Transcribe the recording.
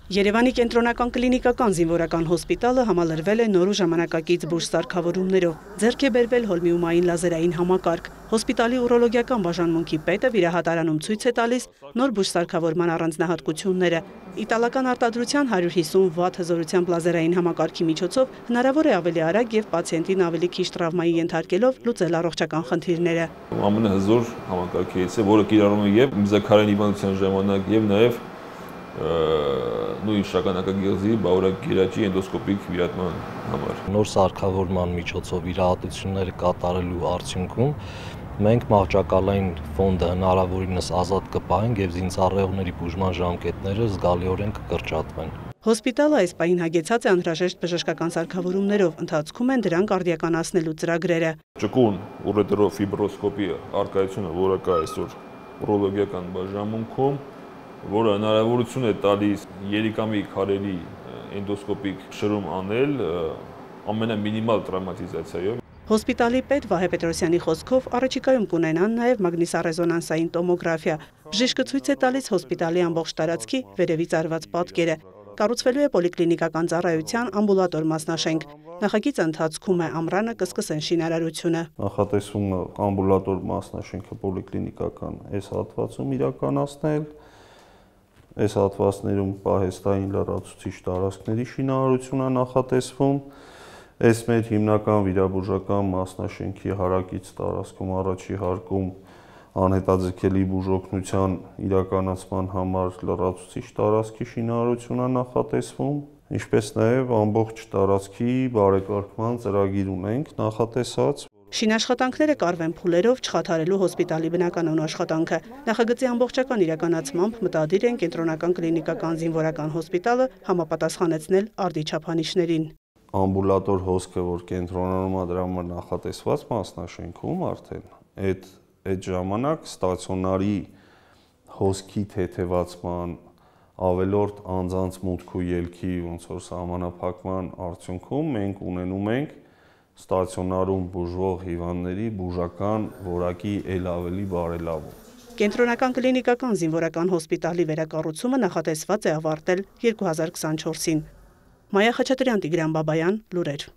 Երևանի կենտրոնական կլինիկական զինվորական հոսպիտալը համալրվել է նոր ու ժամանակակից բուժ սարքավորումներով, ձեռք է բերվել հոլմիումային լազերային համակարգ։ Հոսպիտալի ուրոլոգիական բաժանմունքի պետը վիրահատարանում ցույց է տալիս նոր բուժ սարքավորման առանձնահատկությունները։ Իտալական արտադրության 150 վատ հզորությամբ լազերային համակարգի միջոցով հնարավոր է ավելի արագ եւ պացիենտին ավելի քիչ տրավմայի ենթարկելով լուծել առողջական խնդիրները։ Ամենահզոր համակարգից է, որը կիրառվում է եւ մզաքարային հիվանդության ժամանակ եւ նաեւ նույն շագանակագեղձի բավարարագիրաճի էնդոսկոպիկ վիրատման համար։ Նոր սարքավորման միջոցով վիրահատությունները կատարելու արդյունքում մենք մահճակալային ֆոնդը հնարավորինս ազատ կպահենք եւ զինծառայողների բուժման ժամկետները զգալիորեն կկրճատվեն։ Հոսպիտալը այս պահին հագեցած է անհրաժեշտ բժշկական սարքավորումներով, ընթացքում են դրանք արդիականացնելու ծրագրերը։ Ճկուն ուրետրոֆիբրոսկոպի արկայությունը, որը կա այսօր ուրոլոգիական բաժանմունքում, որը հնարավորություն է տալիս երիկամի քարերի էնդոսկոպիկ շրում անել ամենամինիմալ տրավմատիզացիայով։ Հոսպիտալի պետ Վահե Պետրոսյանի խոսքով առաջիկայում կունենան նաև մագնիսառեզոնանսային տոմոգրաֆիա։ Բժիշկը ցույց է տալիս հոսպիտալի ամբողջ տարածքի վերևից արված պատկերը։ Կառուցվելու է պոլիկլինիկական ծառայության ամբուլատոր մասնաշենք։ Նախագիծը ընթացքում է, ամռանը կսկսեն շինարարությունը։ Նախատեսվում է ամբուլատոր մասնաշենքը պոլիկլինիկական այս հատվածում իրականացնել։ Այս հատվածներում պահեստային լրացուցիչ տարածքների շինարարությունը նախատեսվում։ Այս մեր հիմնական վիրաբուժական մասնաշենքի հարակից տարածքում առաջի հարկում անհետաձգելի բուժօգնության իրականացման համար լրացուցիչ տարածքի շինարարությունը նախատեսվում, ինչպես նաև ամբողջ տարածքի բարեկարգման ծրագիր ունենք նախատեսած։ Շինաշխատանքները կարվեն փուլերով չխաթարելու հոսպիտալի բնականոն աշխատանքը։ Նախագծի ամբողջական իրականացմամբ մտադիր են կենտրոնական կլինիկական զինվորական հոսպիտալը համապատասխանեցնել արդի չափանիշներին։ Ամբուլատոր հոսքը, որ կենտրոնանում է դրա համար նախատեսված մասնաշենքում արդեն, այդ ժամանակ ստացիոնարի հոսքի թեթևացման ավելորդ անձանց մուտք ու ելքի ոնց որ սահմանափակման արդյունքում մենք ունենում ենք ստացիոնարում բուժվող հիվանդների բուժական որակի ել ավելի բարելավում։ Կենտրոնական կլինիկական զինվորական հոսպիտալի վերակառուցումը նախատեսված է ավարտել 2024-ին։ Մայա Խաչատրյան, Տիգրան Բաբայան, լուրեր։